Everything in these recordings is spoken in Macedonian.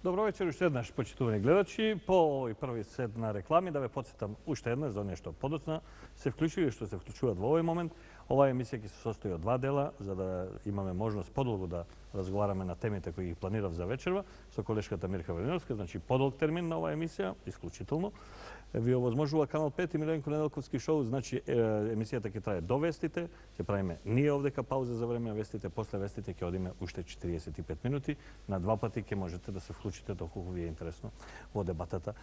Добро вечер, уште еднаш, почитувани гледачи. По овој први сет на реклами, да ве подсетам уште еднаш за нешто подоцна се вклучили што се вклучуваат во овој момент. Оваа емисија ќе се состои од два дела, за да имаме можност подолго да разговараме на темите кои ги планирав за вечерва со колешката Мирка Велиновска, значи подолг термин на оваа емисија, исклучително. Ви овозможува Канал 5 и Миленко Неделковски шоу, значи емисијата ќе трае до вестите, ќе правиме ние овдека пауза за време на вестите, после вестите ќе одиме уште 45 минути, на два пати ќе можете да се вклучите доколку ви е интересно во дебатата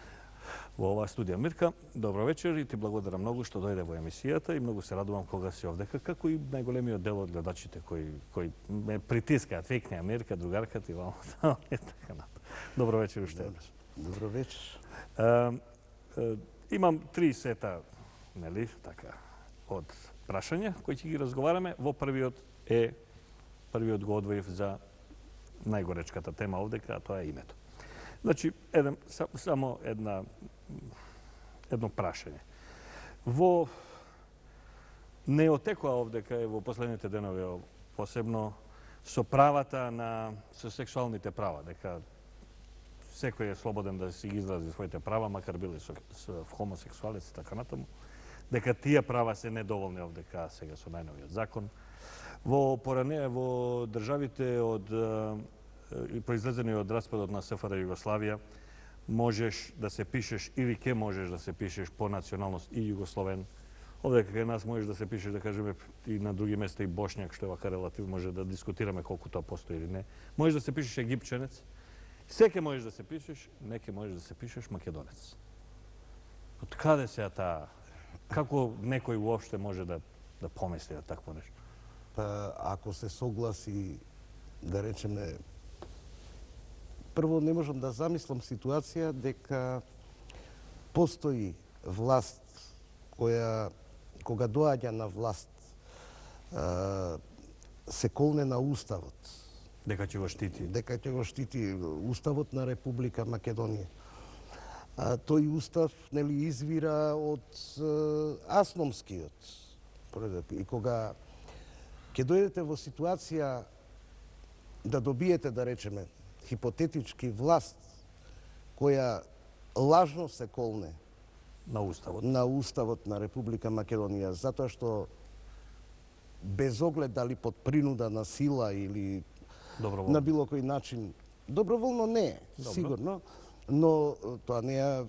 во оваа студија. Мирка, добро вечер и ти благодарам многу што дојде во емисијата и многу се радувам кога си овдека, како и најголемиот дел од гледачите кои ме притискаат, викнеа Мирка, другарка ти вамо, така напред. Добро вечер уште еднаш. Добро вечер. Имам 3 сета, нели, така, од прашања кои ќе ги разговараме. Во првиот го одвоив за најгоречката тема овдека, а тоа е името. Значи, само едно прашање. Не отекува овдека во последните денови, посебно со правата со сексуалните права, дека секој е слободен да си ги изрази своите права, макар били хомосексуалец и така натаму, дека тие права се недоволни овдека сега со најновиот закон. Во државите произлезени од распадот на СФР Југославија, можеш да се пишеш или ке можеш да се пишеш по националност и југословен. Овдека кај нас можеш да се пишеш, да кажеме, и на други места и бошњак, што е вака релатив, може да дискутираме колку тоа постои или не. Можеш да се пишеш египченец, секе можеш да се пишеш, неке можеш да се пишеш македонец. Од каде се таа? Како некој уопште може да помисли на такво нешто? Па, ако се согласи, да речеме, прво не можам да замислам ситуација дека постои власт која, кога доаѓа на власт, се колне на уставот. Дека ќе го штити. Дека ќе го штити уставот на Република Македонија. Тој устав, нели, извира од Асномскиот. И кога ќе дојдете во ситуација да добиете, да речеме, хипотетички власт која лажно се колне на уставот на Република Македонија, затоа што без оглед дали под принуда на сила или на било кој начин, доброволно не е, сигурно, но тоа не ја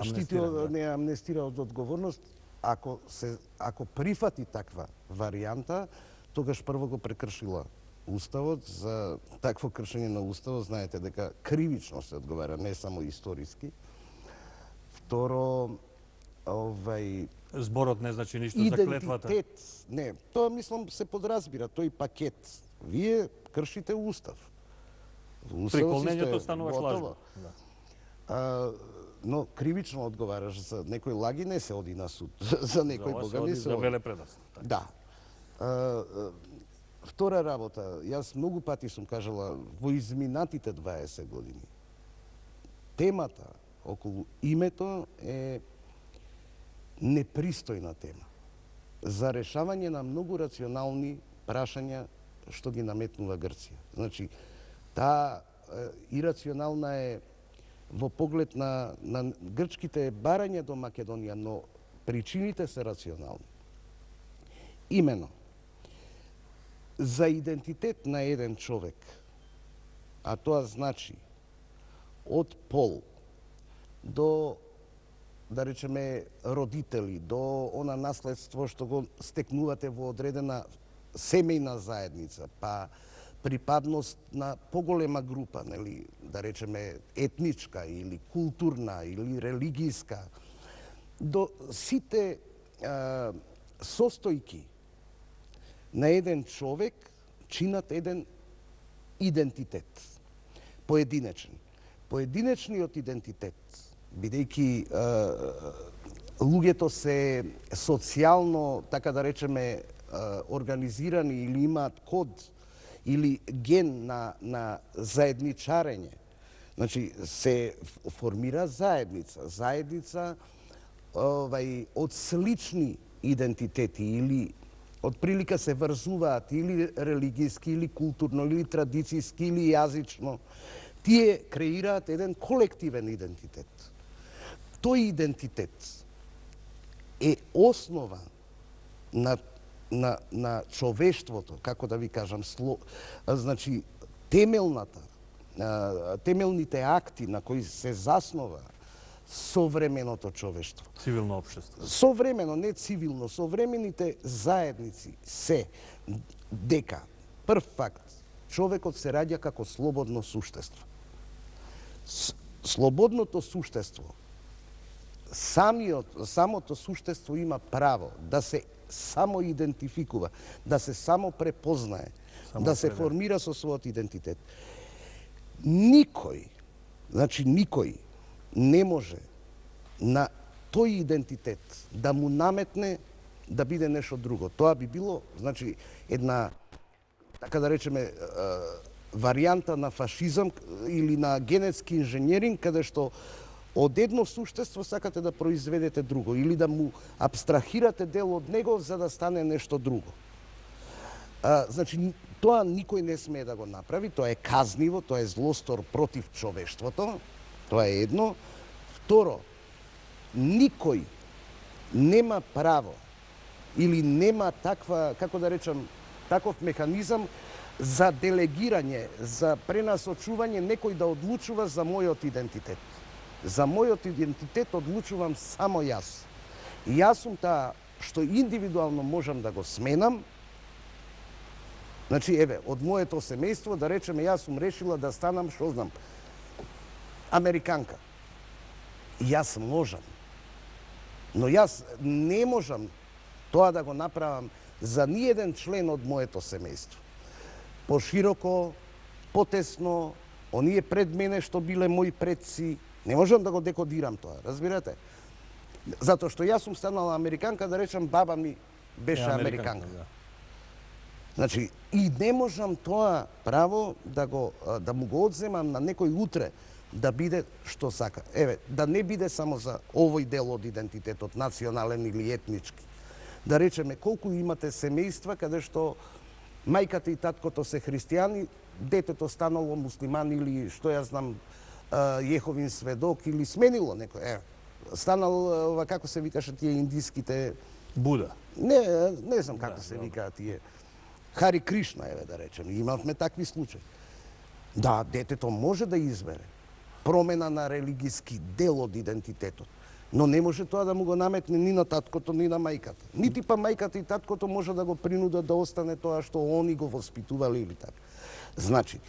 штити, не ја амнестира од одговорност. Ако прифати таква варијанта, тогаш прво го прекршила уставот. За такво кршење на уставот знаете дека кривично се одговара, не само историски. Второ, зборот не значи ништо за клетвата. Идентитет, не, тоа мислам се подразбира, тој пакет. Вие кршите устав. При колнењето стануваш лажно. Но кривично одговараш за некој лаги, не се оди на суд. За некој бога не се оди. За велепредавство. Да. Втора работа, јас многу пати сум кажала во изминатите 20 години. Темата околу името е непристојна тема за решавање на многу рационални прашања што ги наметнува Грција. Значи, таа ирационална е во поглед на грчките барања до Македонија, но причините се рационални. Имено, за идентитет на еден човек, а тоа значи од пол до, да речеме, родители, до она наследство што го стекнувате во одредена семејна заедница, па припадност на поголема група, нели, да речеме етничка или културна или религијска, до сите состојки на еден човек чинат еден идентитет, поединечен. Поединечниот идентитет, бидејќи луѓето се социјално, така да речеме, организирани или имаат код или ген на заедничарење. Значи, се формира заедница од слични идентитети или од прилика се врзуваат или религијски, или културно, или традицијски, или јазично. Тие креираат еден колективен идентитет. Тој идентитет е основа на човештвото, како да ви кажам, значи темелните акти на кои се заснова современото човештво. Цивилно општество. Современо, не цивилно, современите заедници се дека, прв факт, човекот се раѓа како слободно суштество. Слободното суштество, самото суштество има право да се самоидентификува, да се само препознае, да се формира со својот идентитет. Никој не може на тој идентитет да му наметне да биде нешто друго. Тоа би било, значи, една, така да речеме, варијанта на фашизам или на генетски инженеринг, каде што од едно суштество сакате да произведете друго или да му абстрахирате дел од него за да стане нешто друго. Значи, тоа никој не смее да го направи, тоа е казниво, тоа е злостор против човештвото, тоа е едно. Второ, никој нема право или нема таква, како да речам, таков механизам за делегирање, за пренасочување, некој да одлучува за мојот идентитет. За мојот идентитет одлучувам само јас. И јас сум таа што индивидуално можам да го сменам. Значи, еве, од моето семејство, да речеме, јас сум решила да станам, што знам, американка. Јас можам. Но јас не можам тоа да го направам за ниеден член од моето семејство. Пошироко, потесно, оние пред мене што биле мои предци, не можам да го декодирам тоа, разбирате? Затоа што јас сум станала американка, да речам, баба ми беше американка. Значи, и не можам тоа право да му го одземам на некој утре да биде што сака. Еве, да не биде само за овој дел од идентитетот, национален или етнички. Да речеме, колку имате семејства каде што мајката и таткото се христијани, детето станало муслиман или што ја знам, Јеховин сведок или сменило некој. Станал, како се викаше тие индиските... Буда. Не знам како се викаат тие. Хари Кришна, еве да речем. Имавме такви случаи. Да, детето може да избере промена на религиски дел од идентитетот, но не може тоа да му го наметне ни на таткото, ни на мајката. Нити па мајката и таткото може да го принудат да остане тоа што они го воспитувале или така. Значи,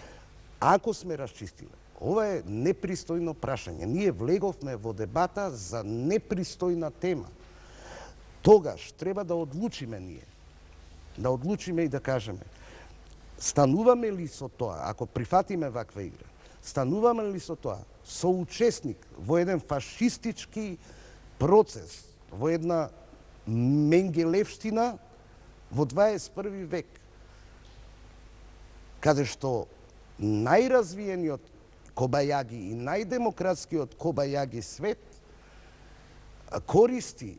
ако сме расчистиле, ова е непристојно прашање. Ние влеговме во дебата за непристојна тема. Тогаш треба да одлучиме ние. Да одлучиме и да кажеме, стануваме ли со тоа, ако прифатиме ваква игра, стануваме ли со тоа соучесник во еден фашистички процес, во една менгелевштина во 21. век, каде што најразвиениот кобајаги и најдемократскиот кобајаги свет користи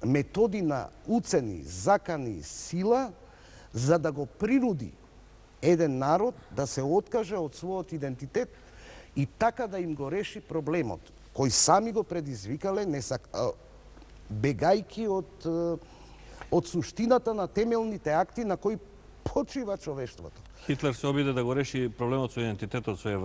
методи на уцени, закани, сила, за да го принуди еден народ да се откаже од својот идентитет и така да им го реши проблемот, кој сами го предизвикале, бегајки од суштината на темелните акти на кои почива човештвото. Хитлер се обиде да го реши проблемот со идентитетот своје време.